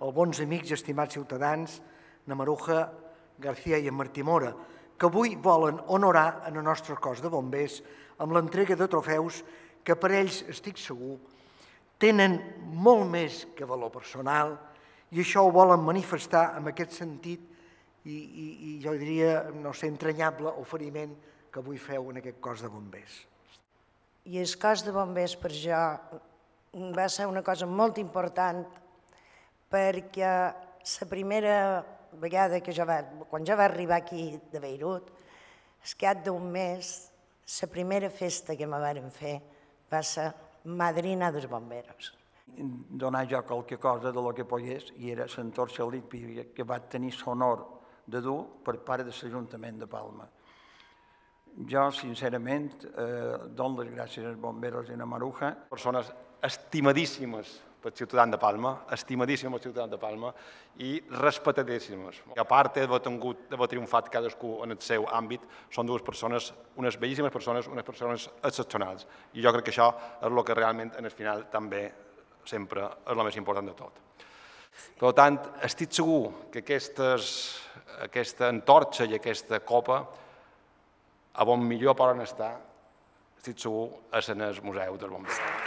Els bons amics i estimats ciutadans, na Maruja, García i en Martí Mora, que avui volen honorar en el nostre cos de bombers amb l'entrega de trofeus que per ells, estic segur, tenen molt més que valor personal i això ho volen manifestar en aquest sentit i jo diria, no sé, entranyable oferiment que avui feu en aquest cos de bombers. I el cos de bombers per jo va ser una cosa molt important perquè la primera vegada que quan jo vaig arribar aquí de Beirut, al cap d'un mes, la primera festa que me varen fer va ser madrina dels bomberos. Donar jo qualque cosa de lo que pogués i era l'entorxa olímpica que vaig tenir l'honor de dur per part de l'Ajuntament de Palma. Jo, sincerament, dono les gràcies als bomberos i a Maruja. Persones estimadíssimes pel ciutadà de Palma, estimadíssimes pel ciutadà de Palma i respectadíssimes. A part d'haver triomfat cadascú en el seu àmbit, són dues persones, unes bellíssimes persones, unes persones excepcionals. I jo crec que això és el que realment, en el final, també sempre és el més important de tot. Per tant, estic segur que aquesta antorxa i aquesta copa, a on millor poden estar, estic segur, és en el Museu dels Bombers.